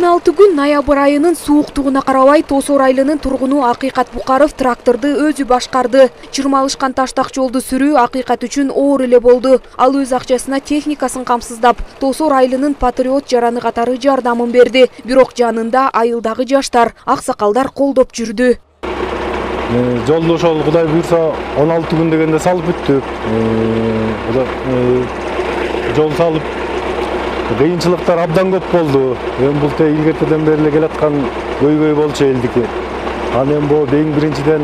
16 күн ноябрь айынын сууктугуна карабай Тосор айылынын тургуну Акыйкат Букаров тракторду өзү башкарды. Чырмалышкан таштак жолду сүрүү Акыйкат үчүн оор эле болду. Ал өз акчасына техникасын камсыздап, Тосор айылынын патриот жараны катары жардамын берди. Бирок жанында айылдагы жаштар, аксакалдар колдоп жүрдү. Жолду ошол Кудай буйрса 16 күн дегенде салып бүттүк. Жол салып кыйынчылыктар абдан көп болду. Бул илгертеден бери эле келаткан көйгөй болчу элдики. Анан эми эң биринчиден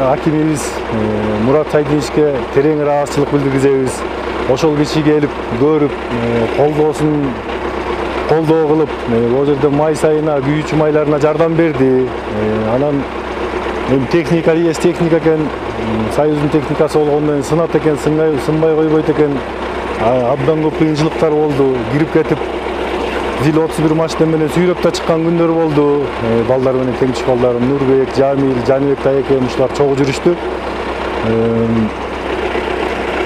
акимибиз Мурат Сайдиновичке терең ыраазычылык билдиргизебиз. Ошол киши келип көрүп, колдоо кылып, ол жерде май сайына, күйүүчү майларына жардам берди. Анан техника экен, Союздун техникасы болгондон кийин сынат экен, сынбай койбойт экен. Абдан көп кыйынчылыктар болду. Кирип кетип, зил 31 машина менен сүйрөп да чыккан күндөр болду. Балдар менен теңчиш балдарым Нурбек, Жамил, Жаныбек тайекем ушулар чогуу жүрүштү.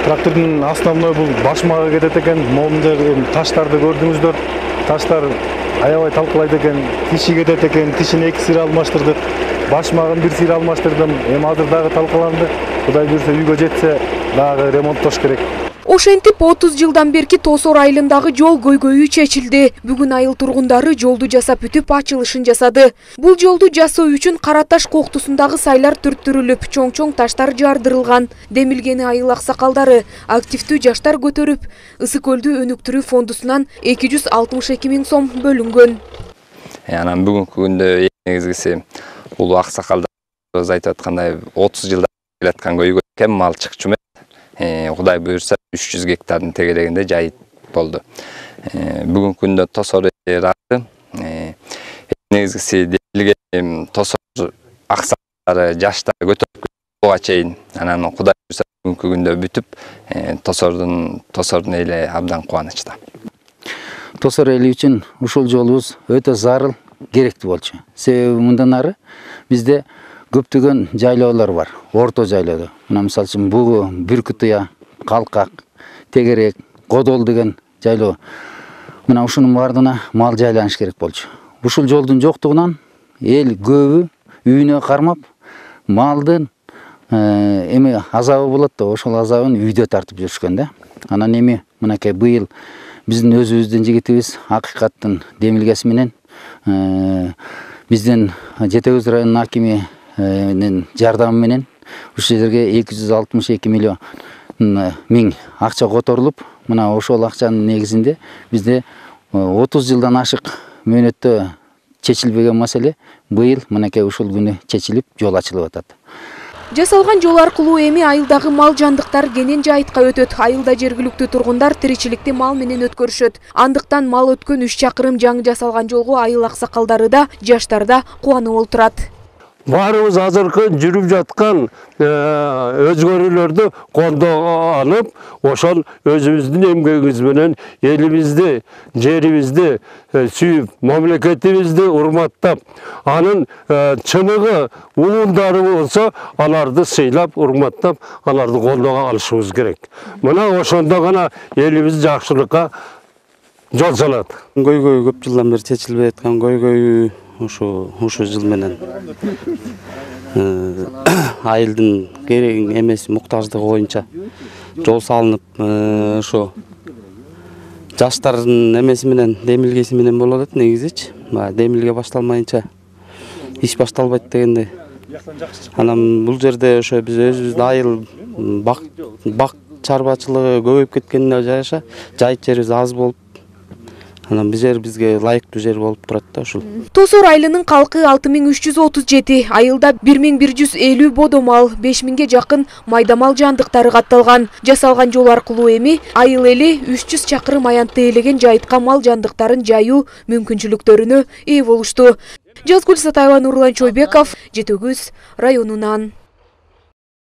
Трактордун основной бул башмагы кетет экен. Момунда таштарды көрдүңүздөр. Таштар аябай талкалайт экен. Тиши кетет экен. Тишин 2 сыйра алмаштырдык. Башмагын 1 сыйра алмаштырдым. Эми азыр дагы талкаланды. Кудай буйрса үйгө жетсе дагы ремонттош керек. Ошентип 30 жылдан берки Тосор айылындагы жол көйгөйү чечилди. Бүгүн айыл тургундары жолду жасап бүтүп ачылышын жасады. Бул жолду жасоо үчүн Кара Таш коктусундагы сайлар түрттүрүлүп, чоң-чоң таштар жардырылган. Демилгени айыл аксакалдары, активдүү жаштар көтөрүп, Ысык көлдү өнүктүрүү фондусунан 262 000 сом бөлүнгөн. Анан бүгүнкү күндө негизгиси улуу аксакалдарыбыз айтып аткандай 30 жылдан келаткан көйгөй экен, мал чыкчу эмес. Кудай буйрса 300 гектардын тегерегинде жайыт болду. Бүгүнкү күндө Тосор району негизгиси Тосор аксакалдары, жаштар көтөрүп буга чейин. Анан Кудай буйрса бүгүнкү күндө бүтүп, Тосордун эли абдан кубанычта. Тосор эли үчүн ушул жолубуз өтө зарыл, керектүү болчу. Себеби мындан ары бизде көптөгөн жайлоолор бар, орто жайлоодо. Мына мисалы үчүн Бугу, Бүркүтыя, Калкак, Тегерек, Кодол деген жайлоо. Мына ушунун бардына мал жайланыш керек болчу. Ушул жолдун жоктугунан эл көбү үйүнө кармап, малдын эми азабы болот да, ошол азабын үйдө тартып жүрүшкөн да. Анан эми мынакей быйыл биздин өзүбүздүн жигитибиз Акыйкаттын демилгеси менен биздин Жетегөз районунун акими жардамы менен ушул жерге 262 миллион миң акча которулуп, мына ошол акчанын негизинде бизде 30 жылдан ашык мөөнөттө чечилбеген маселе быйыл мынакей ушул күнү чечилип, жол ачылып атат. Жасалган жол аркылуу эми айылдагы мал жандыктар кенен жайытка өтөт. Айылда жергиликтүү тургундар тиричиликти мал менен өткөрүшөт. Андыктан мал өткөн 3 чакырым жаңы жасалган жолго айыл аксакалдары да, жаштар да кубанып олтурат. Баарыбыз азыркы жүрүп жаткан өзгөрүүлөрдү кондоо алып, ошол өзүбүздүн эмгегибиз менен элибизди, жерибизди сүйүп, мамлекетибизди урматтап, анын чыныгы улуундары болсо, аларды сыйлап, урматтап, аларды колдоо алышыбыз керек. Мына ошондо гана элибиз жакшылыкка жол салат. Көйгөй көп жылдан бери чечилбей аткан көйгөй ушу жыл менен айылдын керек эмес муктаждыгы боюнча жол салынып, ошо жаштардын эмеси менен, демилгеси менен болуп атат негизичи. Демилге башталмайынча иш башталбайт дегендей. Анан бул жерде ошо биз өзүбүздүн айыл бак чарбачылыгы көбөйүп кеткенине жараша жайыт жерибиз аз болуп, анан бизге ылайыктуу жер болуп турат да ушул. Тосор айылынын калкы 6337, айылда 1150 бодо мал, 5000ге жакын майда мал жандыктары катталган. Жасалган жол аркылуу эми айыл эли 300 чакырым аянтты ээлеген жайытка мал жандыктарын жайуу мүмкүнчүлүктөрүнө ээ болушту. Жазгүл Сатаева, Нурлан Чойбеков, Жетегөз районунан.